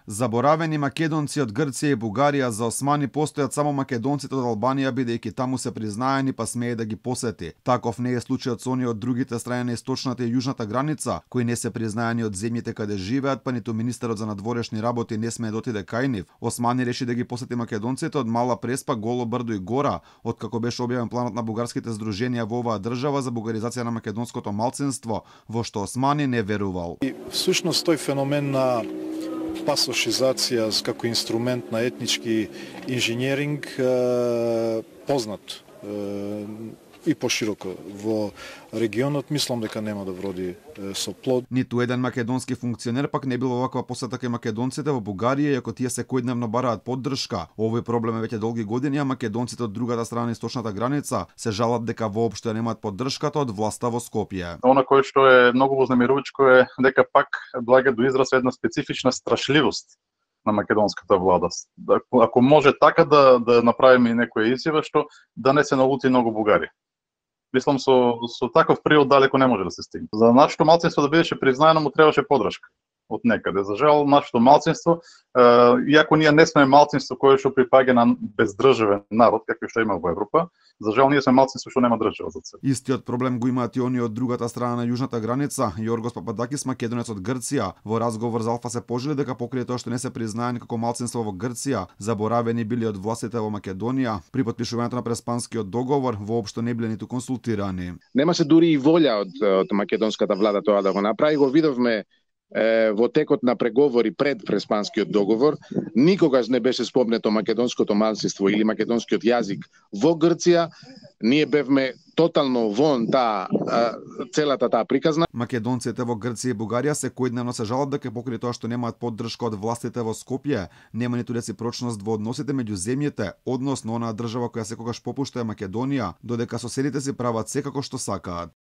Заборавени македонци од Грција и Бугарија за османи постојат само македонците од Албанија, бидејќи таму се признаени па смее да ги посети. Таков не е случајот со оние од другите страни на источната и јужната граница, кои не се признаени од земјите каде живеат, па ниту министерот за надворешни работи не смее да отиде кај нив. Османи реши да ги посети македонците од Мала Преспа, Голо брдо и Гора, откако беше објавен планот на бугарските здруженија во оваа држава за бугаризација на македонското малцинство, во што Османи не верувал. И всушност тој феномен на пасошизација како инструмент на етнички инженеринг познат и пошироко во регионот, мислам дека нема да вроди со плод. Ниту еден македонски функционер пак не бил оваква посета кај македонците во Бугарија, иако тие секојдневно бараат поддршка. Овој проблем е веќе долги години, а македонците од другата страна на источната граница се жалат дека воопшто немаат поддршката од власта во Скопје. Она кое што е многу вознемирувачко е дека пак доаѓа до израз една специфична страшливост на македонската влада. Ако може така да направиме и некоја изјава што да не се налути многу бугари. Мислам со таков приод далеко не може да се стигне. За нашето малцинство да бидеше признаено му требаше поддршка од некаде. За жал, нашето малцинство, иако ние не сме малцинство кое што припаѓа на бездржавен народ, како што има во Европа, за жал ние сме малцинство што нема држава за себе. Истиот проблем го имаат и они од другата страна на јужната граница. Јоргос Пападакис, македонец од Грција, во разговор за Алфа се пожали дека покрај тоа што не се признаени како малцинство во Грција, заборавени били од властите во Македонија, при потпишувањето на Преспанскиот договор воопшто не биле ниту консултирани. Немаше дури и волја од македонската влада тоа да го направи, го видовме во текот на преговори пред Преспанскиот договор. Никогаш не беше спомнето македонското малцинство или македонскиот јазик во Грција. Ние бевме тотално вон целата таа приказна. Македонците во Грција и Бугарија секојдневно се жалат дека покрај тоа што немаат поддршка од властите во Скопје, нема ниту реципрочност во односите меѓу земјите, односно онаа држава која секогаш попушта е Македонија, додека соседите си прават секако што сакаат.